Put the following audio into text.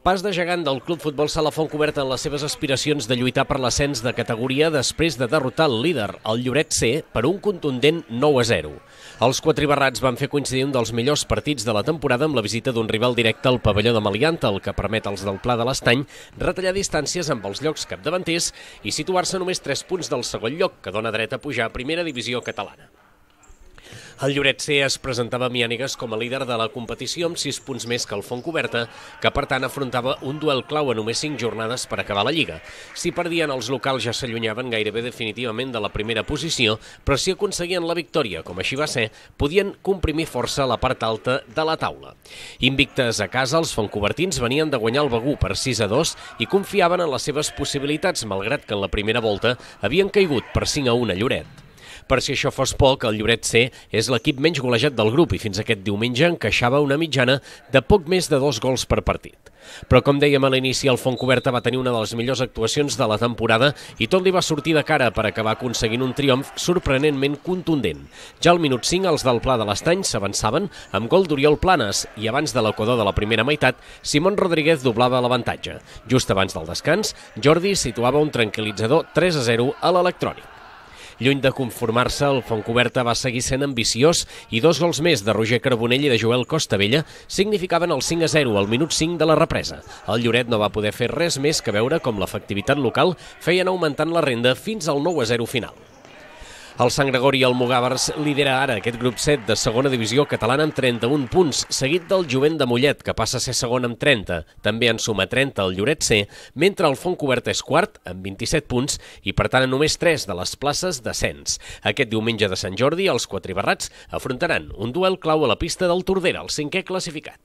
Pas de gegant del Club Futbol Sala Fontcoberta en les seves aspiracions de lluitar per l'ascens de categoria després de derrotar el líder, el Lloret C, per un contundent 9-0. Els quatribarrats van fer coincidir un dels millors partits de la temporada amb la visita d'un rival directe al pavelló de Melianta, el que permet als del Pla de l'Estany retallar distàncies amb els llocs capdavanters i situar-se només 3 punts del segon lloc, que dona dret a pujar a primera divisió catalana. El Lloret C es presentava a Miànigues com a líder de la competició amb 6 punts més que el Fontcoberta, que per tant afrontava un duel clau a només 5 jornades per acabar la Lliga. Si perdien, els locals ja s'allunyaven gairebé definitivament de la primera posició, però si aconseguien la victòria, com així va ser, podien comprimir força a la part alta de la taula. Invictes a casa, els fontcobertins venien de guanyar el Begur per 6-2 i confiaven en les seves possibilitats, malgrat que en la primera volta havien caigut per 5-1 a Lloret. Per si això fos poc, el Lloret C és l'equip menys golejat del grup i fins aquest diumenge encaixava una mitjana de poc més de 2 gols per partit. Però com dèiem a l'inici, el Fontcoberta va tenir una de les millors actuacions de la temporada i tot li va sortir de cara per acabar aconseguint un triomf sorprenentment contundent. Ja al minut 5 els del Pla de l'Estany s'avançaven amb gol d'Oriol Planes i abans de l'equador de la primera meitat, Simón Rodríguez doblava l'avantatge. Just abans del descans, Jordi situava un tranquil·litzador 3-0 a l'electrònic. Lluny de conformar-se, el Fontcoberta va seguir sent ambiciós i 2 gols més de Roger Carbonell i de Joel Costabella significaven el 5-0 al minut 5 de la represa. El Lloret no va poder fer res més que veure com l'efectivitat local feien augmentant la renda fins al 9-0 final. El Sant Gregori i el Mugàvers lidera ara aquest grup 7 de segona divisió catalana amb 31 punts, seguit del Jovent de Mollet, que passa a ser segon amb 30. També en suma 30 el Lloret C, mentre el Fontcoberta és quart amb 27 punts i per tant només 3 de les places d'ascens. Aquest diumenge de Sant Jordi els quatribarrats afrontaran un duel clau a la pista del Tordera, el 5è classificat.